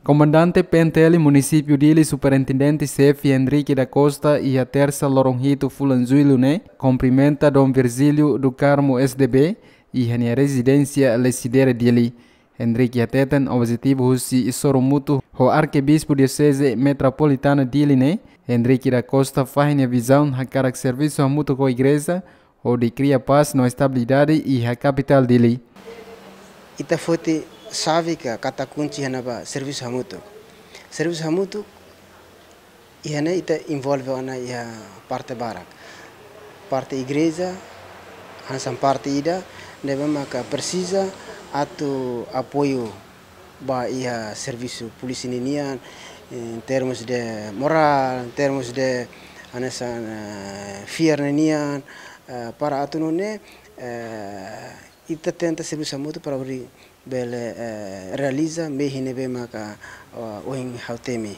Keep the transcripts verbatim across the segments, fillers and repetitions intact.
Komandante P N T L Munisípiu Dili, Superintendente Xefe Henrique da Costa, iha tersa loron hitu fulan Jullu ne'e kumprimenta Dom Virgílio do Carmo S D B iha nia rezidénsia Lecidere, Dili. Henrique hateten objetivu husi sorumutu ho Arkebispu Dioseze Metropolitana Dili ne'e, Henrique da Costa fahe nia vizaun hakarak servisu hamutuk ho igreja hodi kria pás no estabilidade iha kapitál Dili. Ita foti xave ka kata kunci iha ne'ebá servisu hamutuk. Servisu hamutuk iha ne'e ita envolve ona iha parte barak. Parte igreja hanesan parte ida ne'ebé maka presiza atu apoiu ba iha servisu polísia ninian, em termos de moral, em termos de hanesan, eh, fiar ninian, eh, para atu nune'e, eh, ita tenta servisu hamutuk para hodi bele, eh, realiza mehi ne'ebé maka, eh, ohin ha'u temi.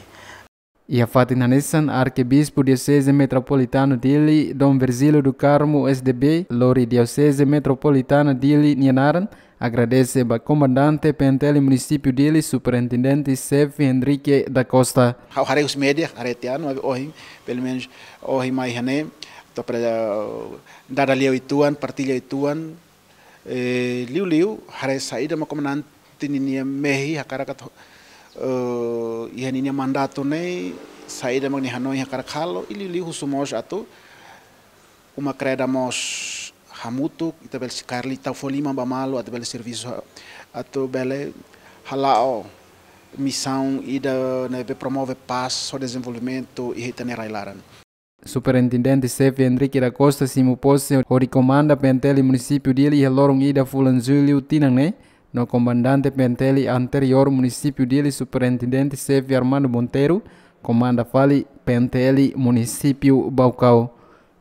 Iha fatin hanesan, Arkebispu Dioseze Metropolitana Dili, Dom Virgílio do Carmo S D B, lori Dioseze Metropolitana Dili nia naran, agradese ba Komandante P N T L Munisípiu Dili, Superintendente Xefe Henrique da Costa. Ha'u haree husi média, haree tiha ona, maibé ohin, pelumenus ohin mai iha ne'e, atu para dada lia uitoan, partilla uitoan, eh, liuliu haree saida mak komandante ninia mehi hakarak atu, eh, iha ninia mandatu ne'e, saida mak nia hanoin hakarak halo, i liuliu husu mós atu uma kreda mós hamutuk, ita bele, se karik liu ita fó liman ba malu, atu bele servisu ha-, atu bele hala'o misaun ida ne'ebé promove pás no dezenvolvimentu iha ita-nia rai-laran. Superintendente Xefe Henrique da Costa simu pose hodi komanda P N T L Munisípiu Dili iha loron ida fulan Jullu tinan ne'e, no Komandante P N T L anteriór Munisípiu Dili, Superintendente Xefe Armando Monteiro, komanda fali P N T L Munisípiu Baucau.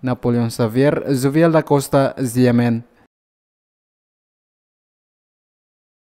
Napoleão Xavier, Jovial da Costa, G M N.